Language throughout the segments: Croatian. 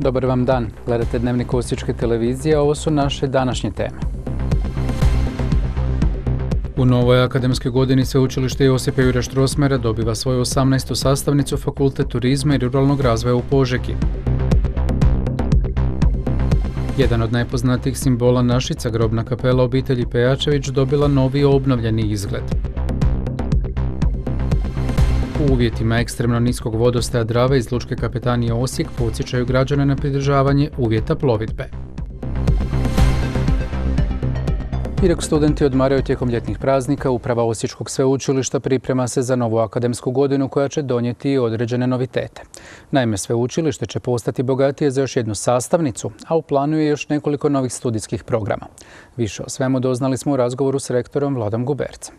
Dobar vam dan. Gledate Dnevnik Osječke televizije, a ovo su naše današnje teme. U novoj akademskoj godini Sveučilište Josipa Jurja Strossmayera dobiva svoju 18. sastavnicu Fakultet turizma i ruralnog razvoja u Požegi. Jedan od najpoznatijih simbola Našica, grobna kapela obitelji Pejačević, dobila novi obnovljeni izgled. U uvjetima ekstremno niskog vodostaja Drave iz Lučke kapetanije Osijek podsjećaju građane na pridržavanje uvjeta plovidbe. I dok studenti odmaraju tijekom ljetnih praznika, uprava Osječkog sveučilišta priprema se za novu akademsku godinu koja će donijeti određene novitete. Naime, sveučilište će postati bogatije za još jednu sastavnicu, a u planu je još nekoliko novih studijskih programa. Više o svemu doznali smo u razgovoru s rektorom Vladom Gubercem.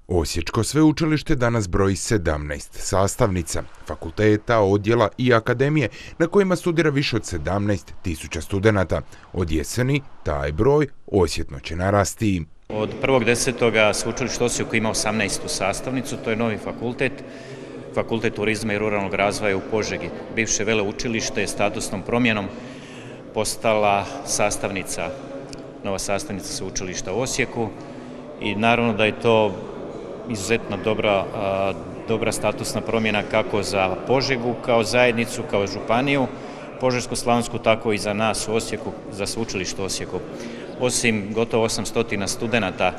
Osječko sveučilište danas broji 17 sastavnica, fakulteta, odjela i akademije na kojima studira više od 17.000 studenata. Od jeseni taj broj osjetno će narasti. Od 1.10. sveučilište Osijeku ima 18. sastavnicu, to je novi fakultet, Fakultet turizma i ruralnog razvoja u Požegi. Bivše veleučilište je statusnom promjenom postala nova sastavnica sveučilišta u Osijeku i naravno da je to izuzetno dobra statusna promjena kako za Požegu, kao zajednicu, kao županiju, Požeško-slavonsku, tako i za nas u Osijeku, za sveučilište u Osijeku. Osim gotovo 800 studenata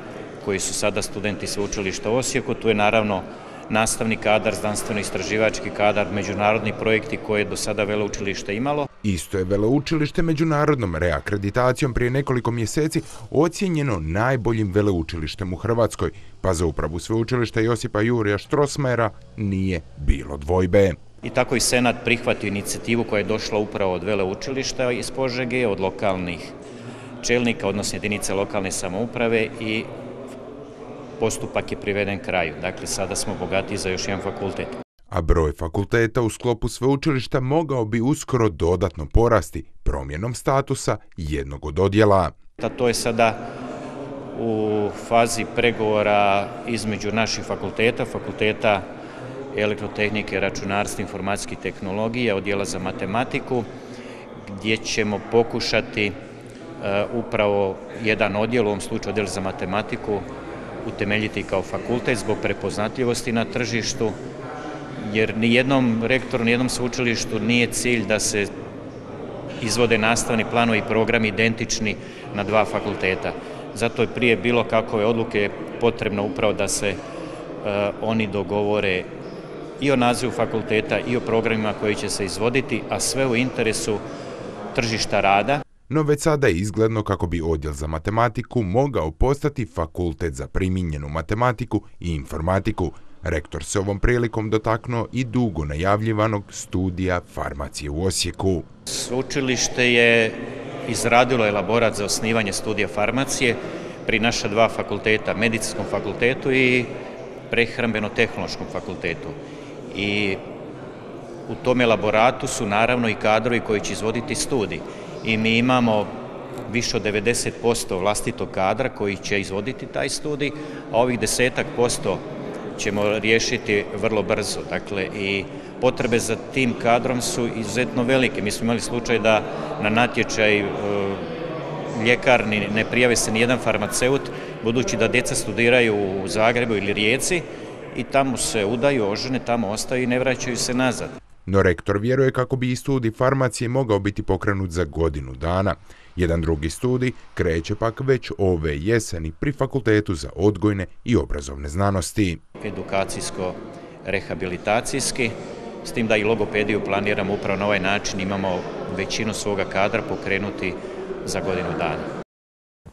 koji su sada studenti sveučilišta u Osijeku, tu je naravno nastavni kadar, znanstveno-istraživački kadar, međunarodni projekti koje je do sada veleučilište imalo. Isto je veleučilište međunarodnom reakreditacijom prije nekoliko mjeseci ocijenjeno najboljim veleučilištem u Hrvatskoj, pa za upravu sveučilišta Josipa Jurja Strossmayera nije bilo dvojbe. I tako i Senat prihvatio inicijativu koja je došla upravo od veleučilišta iz Požege, od lokalnih čelnika, odnosno jedinice lokalne samouprave, i postupak je priveden kraju. Dakle, sada smo bogatiji za još jedan fakultet. A broj fakulteta u sklopu sveučilišta mogao bi uskoro dodatno porasti promjenom statusa jednog od odjela. To je sada u fazi pregovora između naših fakulteta elektrotehnike, računarstva, informacijskih tehnologija, odjela za matematiku, gdje ćemo pokušati upravo jedan odjel, u ovom slučaju odjel za matematiku, utemeljiti kao fakultet zbog prepoznatljivosti na tržištu, jer nijednom rektoru, nijednom sveučilištu nije cilj da se izvode nastavni planovi i programi identični na dva fakulteta. Zato je prije bilo kakove odluke potrebno upravo da se oni dogovore i o nazivu fakulteta i o programima koji će se izvoditi, a sve u interesu tržišta rada. No već sada je izgledno kako bi odjel za matematiku mogao postati fakultet za primijenjenu matematiku i informatiku. Rektor se ovom prilikom dotaknuo i dugo najavljivanog studija farmacije u Osijeku. Sveučilište je izradilo elaborat za osnivanje studija farmacije pri naša dva fakulteta, Medicinskom fakultetu i Prehrambeno-tehnološkom fakultetu. I u tom elaboratu su naravno i kadrovi koji će izvoditi studij. I mi imamo više od 90% vlastitog kadra koji će izvoditi taj studij, a ovih 10% ćemo riješiti vrlo brzo. Dakle, i potrebe za tim kadrom su izuzetno velike. Mi smo imali slučaj da na natječaj ljekarni ne prijave se nijedan farmaceut, budući da djeca studiraju u Zagrebu ili Rijeci i tamo se udaju, ožene, tamo ostaju i ne vraćaju se nazad. No rektor vjeruje kako bi i studij farmacije mogao biti pokrenut za godinu dana. Jedan drugi studij kreće pak već ove jeseni pri Fakultetu za odgojne i obrazovne znanosti. Edukacijsko-rehabilitacijski, s tim da i logopediju planiramo upravo na ovaj način, imamo većinu svoga kadra pokrenuti za godinu dana.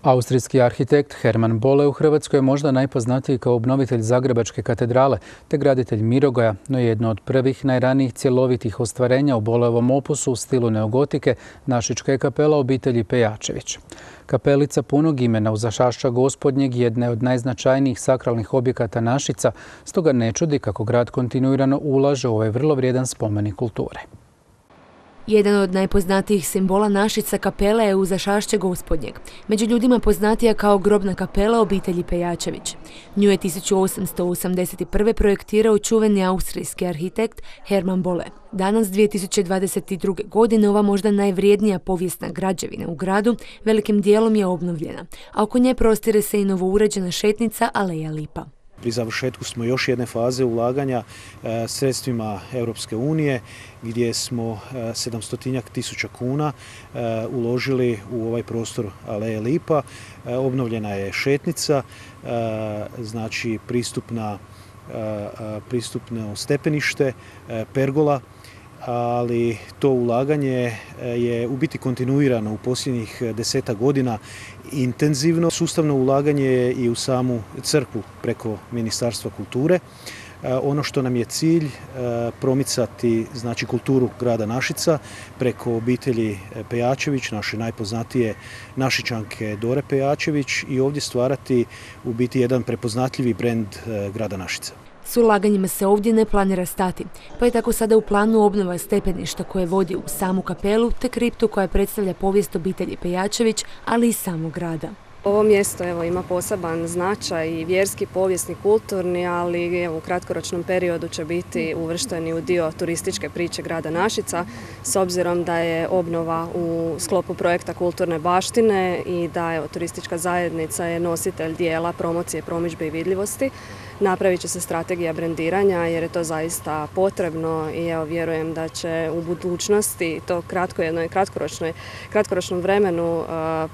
Austrijski arhitekt Hermann Bolle u Hrvatskoj je možda najpoznatiji kao obnovitelj Zagrebačke katedrale te graditelj Mirogoja, no jedno od prvih najranijih cjelovitih ostvarenja u Bolleovom opusu u stilu neogotike Našička je kapela obitelji Pejačević. Kapelica punog imena uz Zašašća Gospodnjeg jedna je od najznačajnijih sakralnih objekata Našica, stoga ne čudi kako grad kontinuirano ulaže u ovaj vrlo vrijedan spomenik kulture. Jedan od najpoznatijih simbola Našica kapela je Uzašašće Gospodnjeg, među ljudima poznatija kao grobna kapela obitelji Pejačević. Nju je 1881. projektirao čuveni austrijski arhitekt Hermann Bolle. Danas, 2022. godine, ova možda najvrijednija povijesna građevina u gradu velikim dijelom je obnovljena, a oko nje prostire se i novouređena šetnica Aleja Lipa. Pri završetku smo još jedne faze ulaganja sredstvima Europske unije gdje smo 700.000 kuna uložili u ovaj prostor Aleje Lipa. Obnovljena je šetnica, znači pristupno stepenište, pergola, ali to ulaganje je u biti kontinuirano u posljednjih 10 godina, intenzivno. Sustavno ulaganje je i u samu crkvu preko Ministarstva kulture. Ono što nam je cilj promicati, znači, kulturu grada Našica preko obitelji Pejačević, naše najpoznatije Našičanke Dore Pejačević, i ovdje stvarati u biti jedan prepoznatljivi brend grada Našica. S ulaganjima se ovdje ne planira stati, pa je tako sada u planu obnova stepeništa koje vodi u samu kapelu te kriptu koja predstavlja povijest obitelji Pejačević, ali i samog grada. Ovo mjesto ima poseban značaj i vjerski, povijesni, kulturni, ali u kratkoročnom periodu će biti uvršteni u dio turističke priče grada Našica, s obzirom da je obnova u sklopu projekta kulturne baštine i da turistička zajednica je nositelj dijela promocije, promidžbe i vidljivosti. Napravit će se strategija brendiranja jer je to zaista potrebno i vjerujem da će u budućnosti to kratkoročnom vremenu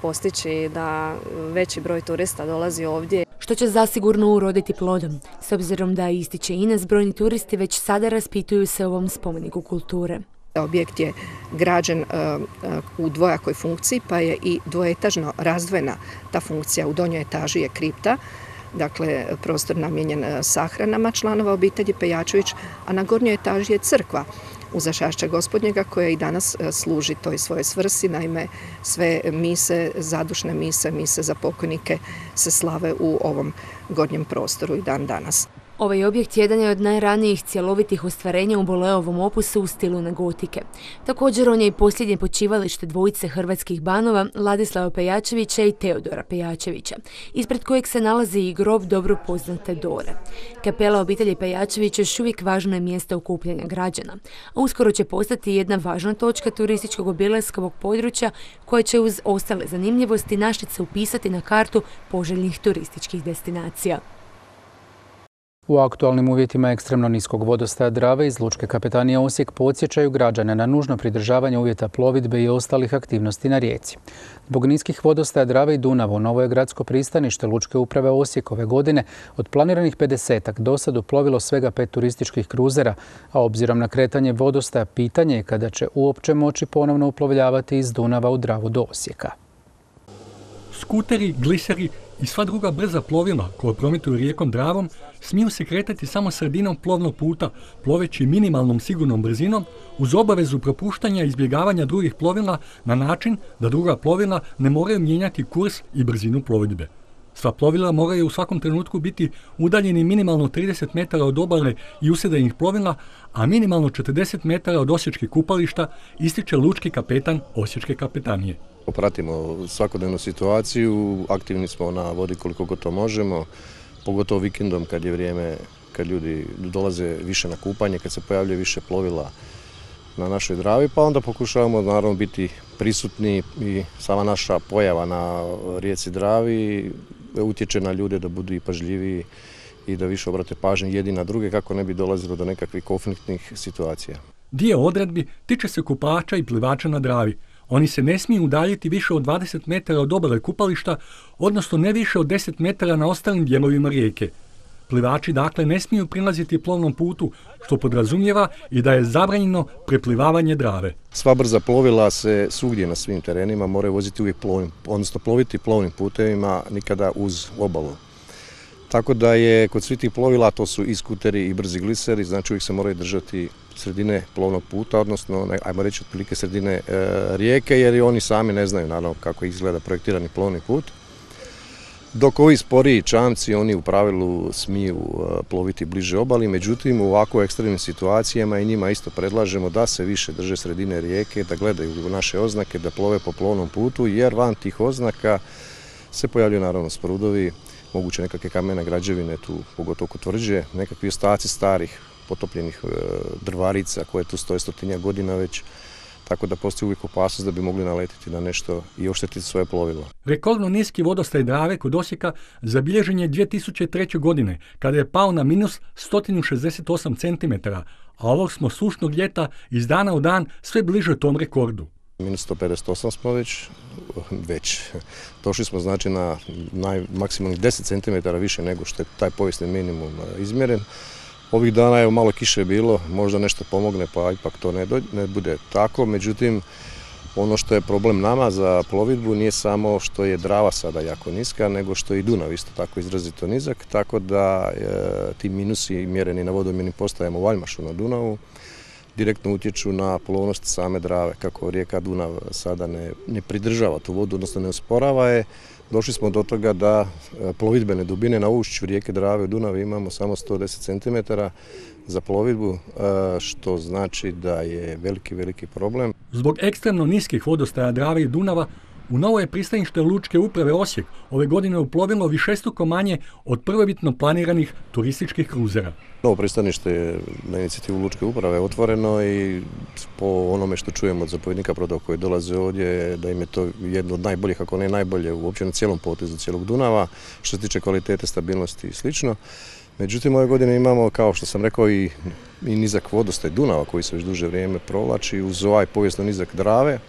postići da veći broj turista dolazi ovdje. Što će zasigurno uroditi plodom, s obzirom da ističe Ines, brojni turisti već sada raspituju se o ovom spomeniku kulture. Objekt je građen u dvojakoj funkciji, pa je i dvoetažno razdvojena ta funkcija. U donjoj etaži je kripta, dakle prostor namijenjen sahranama članova obitelji Pejačević, a na gornjoj etaži je crkva Uzašašća Gospodnjega koja i danas služi toj svojoj svrsi. Naime, sve mise, zadušne mise za pokojnike se slave u ovom gornjem prostoru i dan danas. Ovaj objekt jedan je od najranijih cjelovitih ostvarenja u Bolleovom opusu u stilu negotike. Također on je i posljednje počivalište dvojice hrvatskih banova Ladislava Pejačevića i Teodora Pejačevića, ispred kojeg se nalazi i grob dobro poznate Dore. Kapela obitelji Pejačević još uvijek važno je mjesto okupljanja građana, a uskoro će postati jedna važna točka turističkog obilaskovog područja koja će uz ostale zanimljivosti Našice upisati na kartu poželjnih turističkih destinacija. U aktualnim uvjetima ekstremno niskog vodostaja Drave iz Lučke kapetanije Osijek podsjećaju građane na nužno pridržavanje uvjeta plovidbe i ostalih aktivnosti na rijeci. Zbog niskih vodostaja Drave i Dunava u novo je gradsko pristanište Lučke uprave Osijek ove godine od planiranih 50-ak do sad uplovilo svega 5 turističkih kruzera, a obzirom na kretanje vodostaja pitanje je kada će uopće moći ponovno uplovljavati iz Dunava u Dravu do Osijeka. Skuteri, gliseri i sva druga brza plovila koja prometuju rijekom Dravom smiju se kretati samo sredinom plovnog puta, ploveći minimalnom sigurnom brzinom uz obavezu propuštanja i izbjegavanja drugih plovila na način da druga plovila ne moraju mijenjati kurs i brzinu plovidbe. Sva plovila moraju u svakom trenutku biti udaljeni minimalno 30 metara od obale i usedanih plovila, a minimalno 40 metara od osječkih kupališta, ističe lučki kapetan Osječke kapetanije. Pratimo svakodnevnu situaciju, aktivni smo na vodi koliko god to možemo, pogotovo vikendom kad je vrijeme, kad ljudi dolaze više na kupanje, kad se pojavljuje više plovila na našoj Dravi, pa onda pokušavamo naravno biti prisutni i sama naša pojava na rijeci Dravi utječe na ljude da budu i pažljiviji i da više obrate pažnju jedni na druge kako ne bi dolazilo do nekakvih konfliktnih situacija. Dio odredbi tiče se kupača i plivača na Dravi. Oni se ne smiju udaljiti više od 20 metara od obale kupališta, odnosno ne više od 10 metara na ostalim dijelovima rijeke. Plivači dakle ne smiju prilaziti plovnom putu, što podrazumijeva i da je zabranjeno preplivavanje Drave. Sva brza plovila se svugdje na svim terenima moraju voziti uvijek ploviti plovnim putevima, nikada uz obalu. Tako da je kod svih tih plovila, to su i skuteri i brzi gliseri, znači uvijek se moraju držati sredine plovnog puta, odnosno, ajmo reći, otprilike sredine rijeke, jer i oni sami ne znaju naravno kako izgleda projektirani plovni put. Dok ovi sporiji čamci, oni u pravilu smiju ploviti bliže obali, međutim u ovako ekstremnim situacijama i njima isto predlažemo da se više drže sredine rijeke, da gledaju naše oznake, da plove po plovnom putu, jer van tih oznaka se pojavljaju naravno sprudovi, moguće nekakve kamene građevine tu, pogotovo kod tvrđe, nekakvi ostaci starih potopljenih drvarica koje tu stoje 100 godina već, tako da postoji uvijek opasnost da bi mogli naletiti na nešto i oštetiti svoje plovilo. Rekordno niski vodostaj Drave kod Osijeka zabilježen je 2003. godine, kada je pao na minus 168 cm, a ovog smo sušnog ljeta iz dana u dan sve bliže tom rekordu. Minus 158 smo već. Došli smo znači na maksimalnih 10 cm više nego što je taj povijesni minimum izmjeren. Ovih dana je malo kiše bilo, možda nešto pomogne pa ipak to ne bude tako, međutim ono što je problem nama za plovidbu nije samo što je Drava sada jako niska, nego što je i Dunav isto tako izrazito nizak, tako da ti minusi mjereni na vodomjernim postajama u Valjmašu na Dunavu direktno utječu na plovnost same Drave. Kako rijeka Dunav sada ne pridržava tu vodu, odnosno ne usporava je, došli smo do toga da plovidbene dubine na ušću rijeke Drave u Dunavi imamo samo 110 cm za plovidbu, što znači da je veliki problem. Zbog ekstremno niskih vodostaja Drave i Dunava, u novo je pristanište Lučke uprave Osijek ove godine uplovilo višestruko manje od prvobitno planiranih turističkih kruzera. Novo pristanište je na inicijativu Lučke uprave otvoreno i po onome što čujemo od zapovjednika brodova koji dolaze ovdje, da im je to jedno od najboljih, ako ne najbolje, uopće na cijelom potezu cijelog Dunava, što se tiče kvalitete, stabilnosti i slično. Međutim, ove godine imamo, kao što sam rekao, i nizak vodostaj Dunava koji se već duže vrijeme provlači uz ovaj povijesno nizak Drave.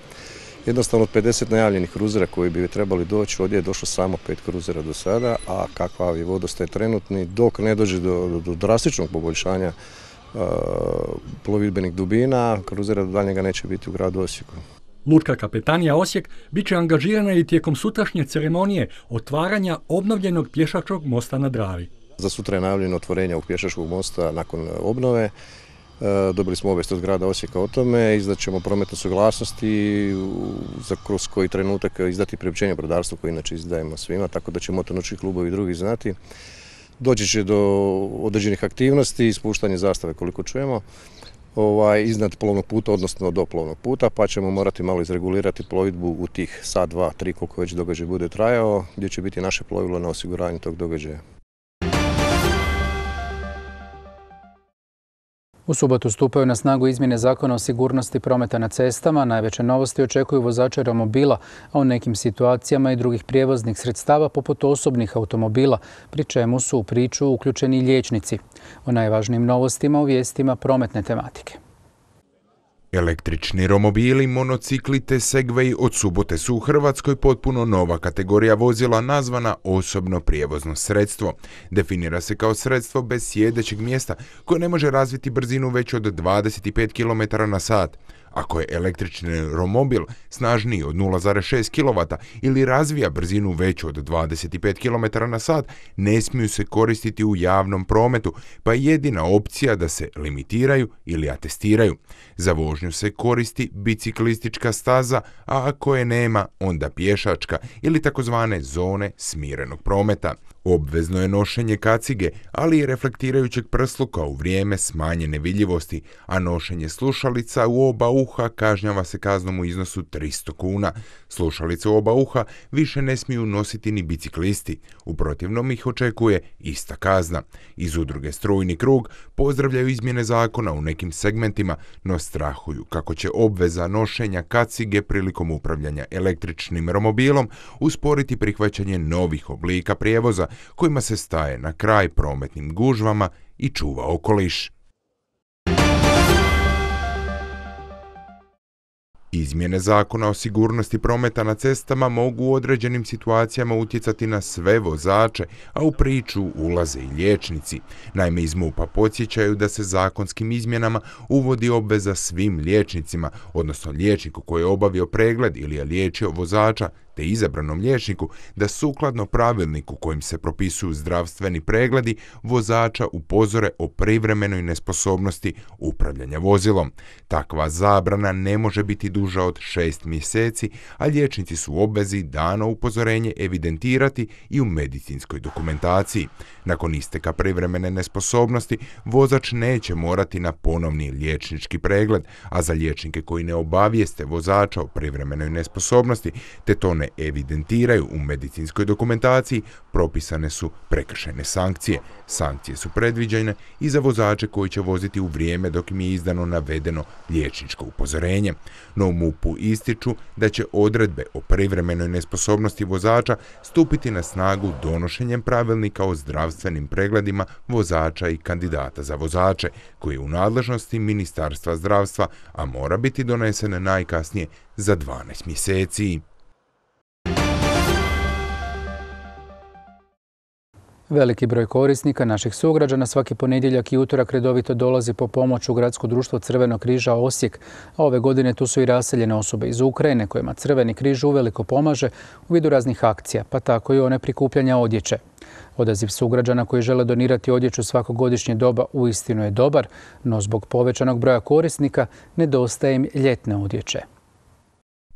Jednostavno od 50 najavljenih kruzera koji bi trebali doći, ovdje je došlo samo 5 kruzera do sada, a kakav je vodostaj trenutni, dok ne dođe do drastičnog poboljšanja plovidbenih dubina, kruzera do daljnjega neće biti u gradu Osijeku. Lučka kapetanija Osijek bit će angažirana i tijekom sutrašnje ceremonije otvaranja obnovljenog pješačkog mosta na Dravi. Za sutra je najavljeno otvorenje ovog pješačkog mosta nakon obnove. Dobili smo obavijest od grada Osijeka o tome, izdaćemo prometnu suglasnost i kroz koji trenutak izdati priopćenje brodarstvu koje inače izdajemo svima, tako da će motornautički klubovi i drugi znati. Doći će do određenih aktivnosti, ispuštanje zastave koliko čujemo, iznad plovnog puta, odnosno do plovnog puta, pa ćemo morati malo izregulirati plovidbu u tih sat, 2, 3, koliko već događaj bude trajao, gdje će biti naše plovilo na osiguranju tog događaja. U subotu stupaju na snagu izmjene Zakona o sigurnosti prometa na cestama. Najveće novosti očekuju vozače romobila, a u nekim situacijama i drugih prijevoznih sredstava poput osobnih automobila, pri čemu su u priču uključeni liječnici. O najvažnijim novostima u vijestima prometne tematike. Električni romobili, monocikli te segveji od subote su u Hrvatskoj potpuno nova kategorija vozila nazvana osobno prijevozno sredstvo. Definira se kao sredstvo bez sjedećeg mjesta koje ne može razviti brzinu veću od 25 km/h. Ako je električni romobil snažniji od 0,6 kW ili razvija brzinu veću od 25 km/h, ne smiju se koristiti u javnom prometu, pa je jedina opcija da se limitiraju ili atestiraju. Za vožnju se koristi biciklistička staza, a ako je nema, onda pješačka ili takozvane zone smirenog prometa. Obvezno je nošenje kacige, ali i reflektirajućeg prsluka u vrijeme smanjene vidljivosti, a nošenje slušalica u oba uha kažnjava se kaznom u iznosu 300 kuna. Slušalice u oba uha više ne smiju nositi ni biciklisti, u protivnom ih očekuje ista kazna. Iz udruge Strujni krug pozdravljaju izmjene zakona u nekim segmentima, no strahuju kako će obveza nošenja kacige prilikom upravljanja električnim romobilom usporiti prihvaćanje novih oblika prijevoza kojima se staje na kraj prometnim gužvama i čuva okoliš. Izmjene Zakona o sigurnosti prometa na cestama mogu u određenim situacijama utjecati na sve vozače, a u priču ulaze i liječnici. Naime, iz MUP-a podsjećaju da se zakonskim izmjenama uvodi obveza svim liječnicima, odnosno liječniku koji je obavio pregled ili je liječio vozača, te izabranom liječniku da sukladno pravilniku kojim se propisuju zdravstveni pregledi vozača upozore o privremenoj nesposobnosti upravljanja vozilom. Takva zabrana ne može biti duža od 6 mjeseci, a liječnici su u obvezi dano upozorenje evidentirati i u medicinskoj dokumentaciji. Nakon isteka privremene nesposobnosti, vozač neće morati na ponovni liječnički pregled, a za liječnike koji ne obavijeste vozača o privremenoj nesposobnosti te to ne evidentiraju u medicinskoj dokumentaciji, propisane su prekršajne sankcije. Sankcije su predviđene i za vozače koji će voziti u vrijeme dok im je izdano navedeno liječničko upozorenje. No u MUP-u ističu da će odredbe o privremenoj nesposobnosti vozača stupiti na snagu donošenjem pravilnika o zdravstvenim pregledima vozača i kandidata za vozače, koji je u nadležnosti Ministarstva zdravstva, a mora biti donesen najkasnije za 12 mjeseci. Veliki broj korisnika naših sugrađana svaki ponedjeljak i utorak redovito dolazi po pomoć u Gradsko društvo Crvenog križa Osijek, a ove godine tu su i raseljene osobe iz Ukrajine kojima Crveni križ uveliko pomaže u vidu raznih akcija, pa tako i one prikupljanja odjeće. Odaziv sugrađana koji žele donirati odjeću svakogodišnje doba uistinu je dobar, no zbog povećanog broja korisnika nedostaje im ljetne odjeće.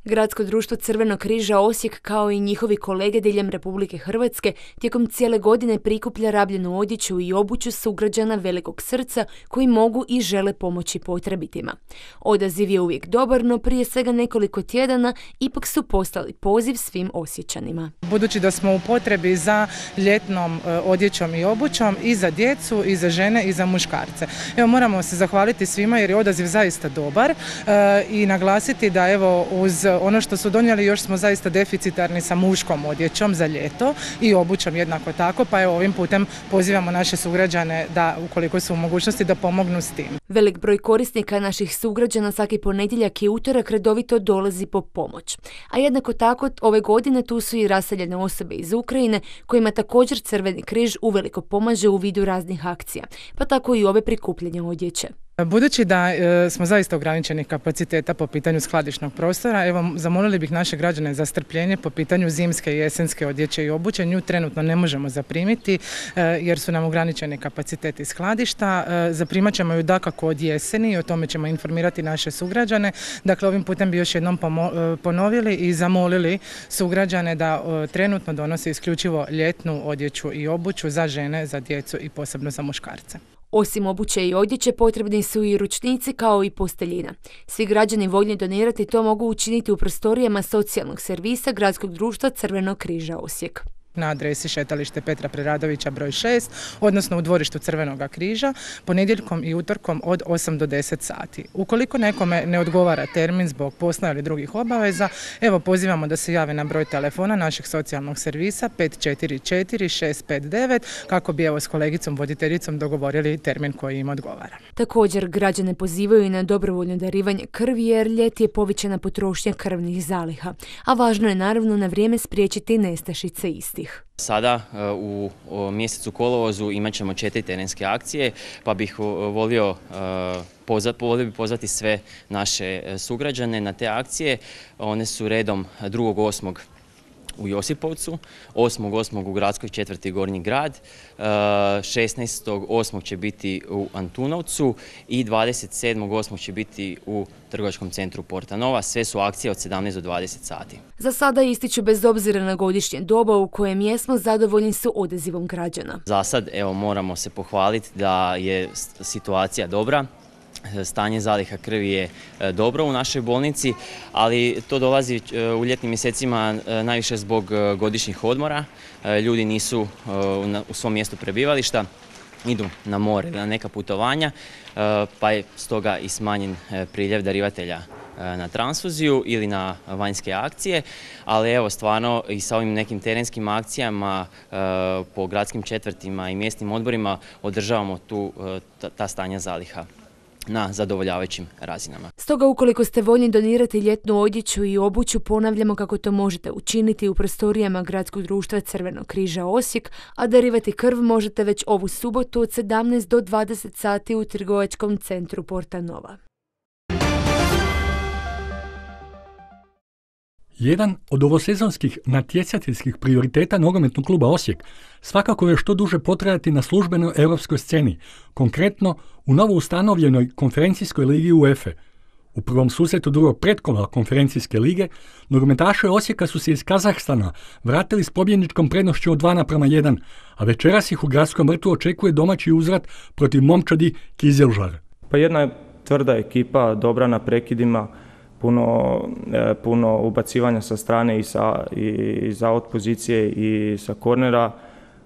Gradsko društvo Crvenog križa Osijek, kao i njihovi kolege diljem Republike Hrvatske, tijekom cijele godine prikuplja rabljenu odjeću i obuću sugrađana velikog srca koji mogu i žele pomoći potrebitima. Odaziv je uvijek dobar, no prije svega nekoliko tjedana ipak su poslali poziv svim Osječanima. Budući da smo u potrebi za ljetnom odjećom i obućom i za djecu, i za žene, i za muškarce. Evo, moramo se zahvaliti svima jer je odaziv zaista dobar i naglasiti da evo uz ono što su donijeli još smo zaista deficitarni sa muškom odjećom za ljeto i obućom jednako tako, pa evo ovim putem pozivamo naše sugrađane da ukoliko su u mogućnosti da pomognu s tim. Velik broj korisnika naših sugrađana svaki ponedjeljak i utorak redovito dolazi po pomoć. A jednako tako ove godine tu su i raseljene osobe iz Ukrajine kojima također Crveni križ uveliko pomaže u vidu raznih akcija, pa tako i ove prikupljanje odjeće. Budući da smo zaista ograničenih kapaciteta po pitanju skladišnog prostora, evo zamolili bih naše građane za strpljenje po pitanju zimske i jesenske odjeće i obuće. Nju trenutno ne možemo zaprimiti jer su nam ograničeni kapaciteti skladišta. Zaprimat ćemo ju dakako od jeseni i o tome ćemo informirati naše sugrađane. Dakle, ovim putem bi još jednom ponovili i zamolili sugrađane da trenutno donose isključivo ljetnu odjeću i obuću za žene, za djecu i posebno za muškarce. Osim obuće i odjeće potrebni su i ručnici kao i posteljina. Svi građani voljni donirati to mogu učiniti u prostorijama socijalnog servisa Gradskog društva Crvenog križa Osijek. Na adresi Šetalište Petra Preradovića broj 6, odnosno u dvorištu Crvenoga križa, ponedjeljkom i utorkom od 8 do 10 sati. Ukoliko nekome ne odgovara termin zbog posla ili drugih obaveza, evo pozivamo da se jave na broj telefona našeg socijalnog servisa 544-659 kako bi evo s kolegicom voditeljicom dogovorili termin koji im odgovara. Također građane pozivaju i na dobrovoljno darivanje krvi jer ljeti je povećana potrošnja krvnih zaliha, a važno je naravno na vrijeme spriječiti nestašice istih. Sada u mjesecu kolovozu imat ćemo 4 terenske akcije, pa bih volio pozvati sve naše sugrađane na te akcije. One su redom 2.8. u Josipovcu, 8.8. u gradskoj četvrti Gornji grad, 16.8. će biti u Antunovcu i 27.8. će biti u trgovačkom centru Porta Nova. Sve su akcije od 17 do 20 sati. Za sada ističu bez obzira na godišnje doba u kojem jesmo zadovoljni su odazivom građana. Za sad evo moramo se pohvaliti da je situacija dobra. Stanje zaliha krvi je dobro u našoj bolnici, ali to dolazi u ljetnim mjesecima najviše zbog godišnjih odmora. Ljudi nisu u svom mjestu prebivališta, idu na more, na neka putovanja, pa je stoga i smanjen priljev darivatelja na transfuziju ili na vanjske akcije, ali evo stvarno i sa ovim nekim terenskim akcijama po gradskim četvrtima i mjesnim odborima održavamo ta stanja zaliha na zadovoljavajućim razinama. Stoga ukoliko ste voljni donirati ljetnu odjeću i obuću, ponavljamo kako to možete učiniti u prostorijama Gradskog društva Crvenog križa Osijek, a darivati krv možete već ovu subotu od 17 do 20 sati u trgovačkom centru Porta Nova. Jedan od ovosezonskih natjecateljskih prioriteta nogometnog kluba Osijek svakako je što duže potrajati na službenoj europskoj sceni, konkretno u novo ustanovljenoj konferencijskoj ligi UEFA. U prvom susretu drugog pretkola konferencijske lige, nogometaši Osijeka su se iz Kazahstana vratili s pobjedničkom prednošću od 2:1, a večeras ih u Gradskom vrtu očekuje domaći uzvrat protiv momčadi Kizilžara. Pa jedna je tvrda ekipa, dobra na prekidima, puno ubacivanja sa strane i za out pozicije i sa kornera,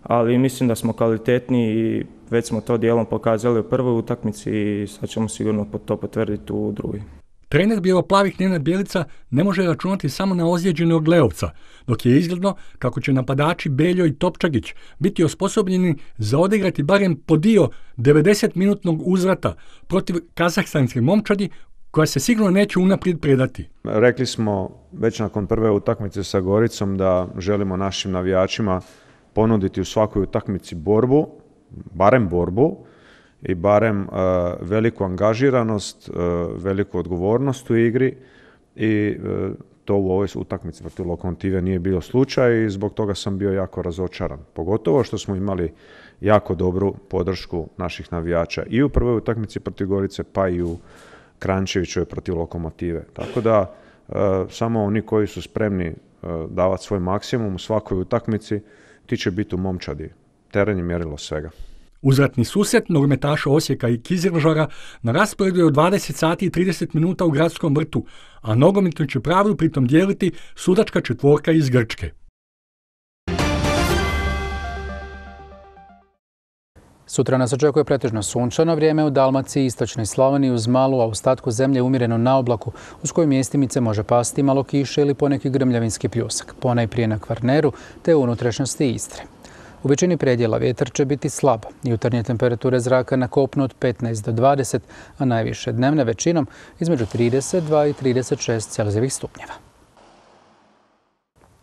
ali mislim da smo kvalitetni i već smo to dijelom pokazali u prvoj utakmici i sad ćemo sigurno to potvrditi u drugoj. Trener bijelo-plavih Nenad Bjelica ne može računati samo na ozlijeđenog Leovca, dok je izgledno kako će napadači Beljo i Topčagić biti osposobljeni za odigrati barem po dio 90-minutnog uzvrata protiv kazahstanske momčadi, koja se sigurno neće unaprijed predati. Rekli smo već nakon prve utakmice sa Goricom da želimo našim navijačima ponuditi u svakoj utakmici borbu, barem borbu i barem veliku angažiranost, veliku odgovornost u igri i to u ovoj utakmici protiv Lokomotive nije bio slučaj i zbog toga sam bio jako razočaran. Pogotovo što smo imali jako dobru podršku naših navijača i u prvoj utakmici protiv Gorice pa i u Kranjčeviću je protiv Lokomotive. Tako da samo oni koji su spremni davati svoj maksimum u svakoj utakmici, ti će biti u momčadi. Teren je mjerilo svega. Uzvratni susret nogometaša Osijeka i Kizilžara na rasporedu je od 20 sati i 30 minuta u Gradskom vrtu, a nogometno će pravdu pritom dijeliti sudačka četvorka iz Grčke. Sutra nas očekuje pretežno sunčano vrijeme u Dalmaciji i istočnoj Slavoniji uz malu, a u ostatku zemlje umjereno na oblaku, uz koju mjestimice može pasti malo kiše ili poneki grmljavinski pljusak, ponajprije na Kvarneru te u unutrašnjosti Istre. U većini predjela vjetar će biti slab. Jutarnje temperature zraka na kopnu od 15 do 20, a najviše dnevne većinom između 32 i 36 Celzijevih stupnjeva.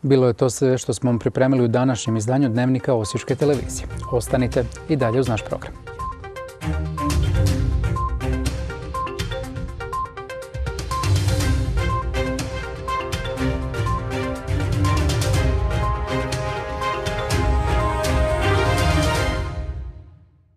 Bilo je to sve što smo vam pripremili u današnjem izdanju Dnevnika Osječke televizije. Ostanite i dalje uz naš program.